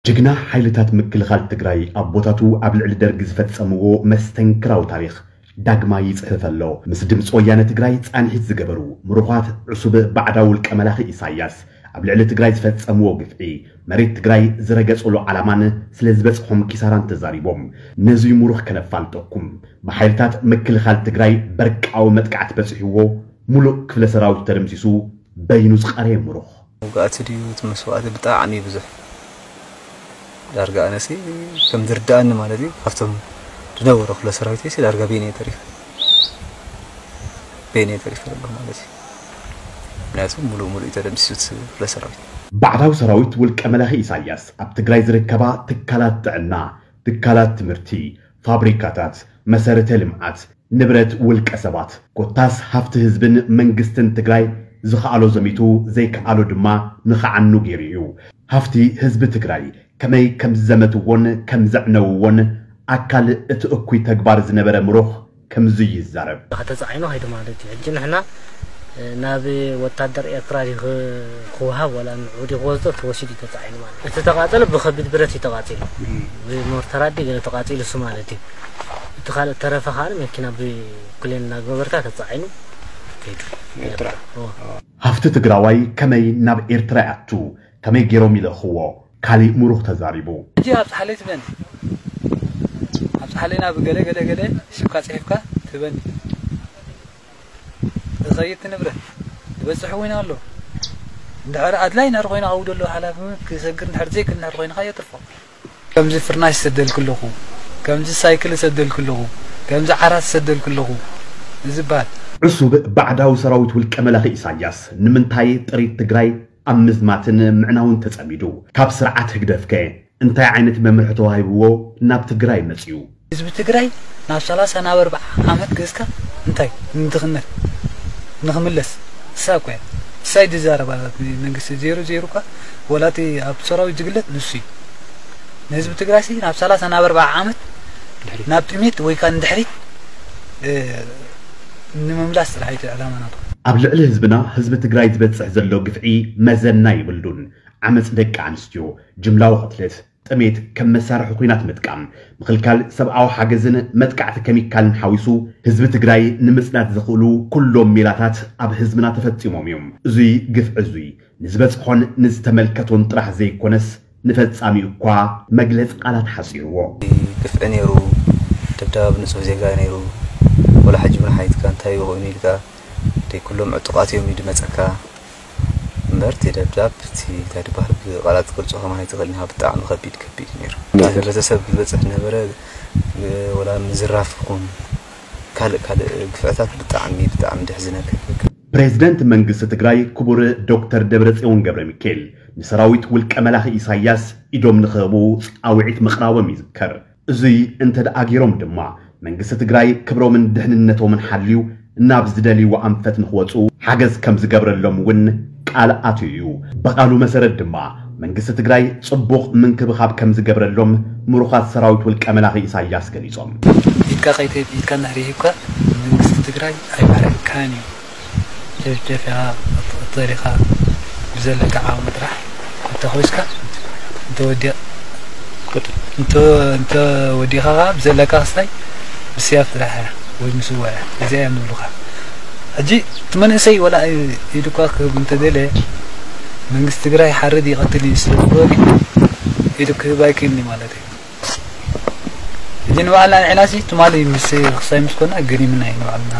ጅግና ሓይልታት ምክልኻል ትግራይ ኣቦታቱ ኣብ ልዕሊ ደርጊ ዝፈጸምዎ መስተንክራዊ ታሪኽ ዳግማይ ይጽሕፍ ኣሎ። ምስ ድምፂ ወያነ ትግራይ ፃንሒት ዝገበሩ ምሩኻት ዕሱብ ባዕዳዊ ውልቀ መላኺ ኢሳያስ ኣብ ልዕሊ ትግራይ ዝፈጸምዎ ግፍዒ፣ መሬት ትግራይ ዝረገጽሉ ዓላማን ስለ ዝበጽሖም ኪሳራን ተዛሪቦም። ነዙይ ምሩኽ ከነፋልጠኩም፣ ብሓይልታት ምክልኻል ትግራይ በርቃዊ መጥቃዕቲ በጺሕዎ፣ ሙሉእ ክፍለ ሰራዊት ተደምሲሱ፣ በይኑ ዝቐረየ ምሩኽ። ውግኣት ድዩ እቲ መስዋእቲ ብጣዕሚ ብዙሕ። ዳርጋ ኣነሲ ከም ዝርዳእኒ ማለት እዩ፣ ካብቶም ዝነበሩ ክፍለ ሰራዊት ሲ ዳርጋ ቤን እየ ተሪፈ። ቤን እየ ተሪፈ ኣለኹ ማለት እዩ። ምክንያቱ ሙሉእ ሙሉእ እዩ ተደምሲሱ እቲ ክፍለ ሰራዊት። ባዕዳዊ ሰራዊት ውልቀ መላኺ ኢሳያስ ኣብ ትግራይ ዝርከባ ትካላት ጥዕና፣ ትካላት ትምህርቲ፣ ፋብሪካታት፣ መሰረተ ልምዓት፣ ንብረት ውልቀ ሰባት፣ ኮታስ ሃፍቲ ህዝብን መንግስትን ትግራይ ዝኸኣሎ ዘሚቱ ዘይከኣሎ ድማ ንኸዓኑ ገይሩ እዩ። ሃፍቲ ህዝቢ ትግራይ ከመይ ከም ዝዘመትዎን ከም ዘዕነውዎን ኣካል እቲ እኩይ ተግባር ዝነበረ ምሩኽ ከምዚ ይዛረብ። ተጻዒኑ ኸይዱ ማለት እዩ። ሕጂ ንሕና ናብ ወታደር ኤርትራ ድዩ ክ-፣ ክወሃብ ዋላ ንዑ ድዩ ክወስዶ ተወሲዱ እዩ ተጻዒኑ ማለት እዩ። እቲ ተቃጸለ ብኸቢድ ብረት እዩ ተቃጺሉ። ብሞርተር ኣዲ ገለ ተቃጺሉ እሱ ማለት እዩ። እቲ ካልእ ተረፈ ከዓ መኪና ብኩሌን እናገበርካ ተጻዒኑ ከይዱ። ኤርትራ። እዎ። ሃፍቲ ትግራዋይ ከመይ ናብ ኤርትራ ይኣቱ? ከመይ ገይሮም ይልእኽዎ? ካሊእ ምሩኽ ተዛሪቡ። ሕጂ ኣብጽሓለይ ትበኒ። ኣብጽሓለይ ናብ ገለ ገለ ገለ ሽምካ ጽሒፍካ ትበኒ። ዝኸይድ ንብረት ዝበጽሕ እውን ኣሎ። እንድሕር ኣድላይ እንድሕር ኮይኑ ኣብኡ ዘሎ ሓላፊ እውን ክሰግር እንድሕር ዘይክእል እንድሕር ኮይኑ ከየትርፎ። ከምዚ ፍርናሽ ይሰደልኩ ኣለኹ፣ ከምዚ ሳይክል ይሰደልኩ ኣለኹ፣ ከምዚ ዓራት ይሰደልኩ ኣለኹ ዝባል። ዕሱብ ባዕዳዊ ሰራዊት ውልቀ መላኺ ኢሳያስ ንምንታይ ጥሪት ትግራይ ኣብ ምዝማትን ምዕናውን ተጸሚዱ? ካብ ስርዓት ህግደፍከ እንታይ ዓይነት መምርሒ ተዋሂብዎ ናብ ትግራይ መጺኡ? ህዝቢ ትግራይ ናብ ሰላሳ ናብ ኣርብዓ ዓመት ገዝካ እንታይ ንድኽነት ንኽምለስ? እሳ እኮ እያ። እሳ እዩ ዝዛረባ። መንግስቲ ዜሮ ዜሮ እኳ ወላ እቲ ኣብ ሰራዊት ዝግለጽ ንሱ እዩ። ንህዝቢ ትግራይ ሲ ናብ ሰላሳ ናብ ኣርብዓ ዓመት ናብ ጥሜት ወይ ከዓ ንድሕሪት፣ እ፣ ንምምላስ ጥራሕ እዩ እቲ ዕላማ ናቱ። ኣብ ልዕሊ ህዝብና፣ ህዝቢ ትግራይ ዝበጽሕ ዘሎ ግፍዒ መዘና የብሉን። ዓመፅ ደቂ ኣንስትዮ፣ ጅምላዊ ቅትለት፣ ጥሜት ከም መሳርሒ ኲናት ምጥቃም፣ ምኽልካል ሰብኣዊ ሓገዝን መጥቃዕቲ ኬሚካልን ሓዊሱ ህዝቢ ትግራይ ንምፅናት ዘኽእሉ ኩሎም ሜላታት ኣብ ህዝብና ተፈፂሞም እዮም። እዙይ ግፍዒ እዙይ ንዝበፅሖን ንዝተመልከቶን ጥራሕ ዘይኮነስ ንፈፃሚኡ እኳ መግለፂ ቃላት ሓፂርዎ። ግፍዒ ነይሩ፣ ደብዳብ ንፁህ ዜጋ ነይሩ። ወላ ሕጂ እውን ሓይትካ እንታይ ኮይኑ ኢልካ ደይ ኩሎም ዕጡቓት እዮም እዩ ድመፀካ። እምበር እቲ ደብዳብ እቲ እንታይ ድበሃል ብቃላት ክገልጾ ከማን ኣይትኽእልን ኢኻ። ብጣዕሚ ከቢድ ከቢድ ነይሩ። እቲ ህብረተሰብ ዝበጽሕ ነበረ፣ ወላ ምዝራፍ ይኹን ካልእ ካልእ ግፍዕታት ብጣዕሚ ብጣዕሚ ደሕዝነካ። ፕሬዝደንት መንግስቲ ትግራይ ክቡር ዶክተር ደብረጽዮን ገብረ ሚካኤል ንሰራዊት ውልቀ መላኺ ኢሳያስ ኢዶም ንኽህቡ ጻውዒት ምቕራቦም ይዝከር። እዙይ እንተ ደኣ ገይሮም ድማ መንግስቲ ትግራይ ክብሮምን ድሕንነቶምን ሓልዩ ናብ ዝደልይዎ ኣንፈት ንኽወፁ ሓገዝ ከም ዝገብረሎም እውን ቃል ኣትዩ እዩ። ብቃሉ መሰረት ድማ መንግስቲ ትግራይ ፅቡቕ ምንክብኻብ ከም ዝገብረሎም ምሩኻት ሰራዊት ውልቀ መላኺ ኢሳያስ ገሊፆም። ኢድካ ከይተ-፣ ኢድካ እንድሕር ሂብካ መንግስቲ ትግራይ ኣይባርዕካን እዩ። ጨፍጨፍያ ክትቕተል ኢኻ ብዘለካ ዓቕሚ ጥራሕ እንተኾይስካ እንተወዲቕ እንተ-፣ እንተወዲእኻ ኸዓ ብዘለካ ክስታይ ብስያፍ ጥራሕ እያ ወይ ምስዋእ እያ። እዚኣ እዮም ዝብሉኻ። ሕጂ እቲ መንእሰይ ወላ ኢዱ እኳ ክህብ እንተደለ መንግስቲ ትግራይ ሓርድ ይቐትል እዩ ስለ ዝበሉ ኢዱ ክህብ ኣይክእልን እዩ ማለት እዩ። ሕጂ ንባዕልና ንዕናሲ ትማሊ ምስ ክሳይ ምስ ኮና ገሪምና እዩ ንባዕልና፣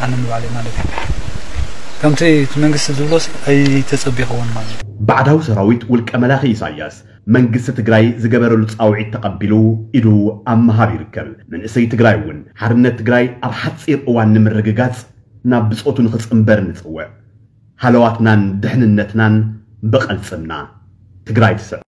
ኣነ ንባዕለይ ማለት እዩ። ከምቲ እቲ መንግስቲ ዝብሎ ኣይተጸቢኽዎን ማለት እዩ። ባዕዳዊ ሰራዊት ውልቀ መላኺ ኢሳያስ መንግስቲ ትግራይ ዝገበረሉ ጻውዒት ተቐቢሉ ኢዱ ኣብ ምሃብ ይርከብ። መንእሰይ ትግራይ እውን ሓርነት ትግራይ ኣብ ሓጺር እዋን ንምርግጋጽ ናብ ብጾቱ ንኽጽንበር ንጽውዕ። ሃለዋትናን ድሕንነትናን ብቐልጽምና። ትግራይ ትስዕር።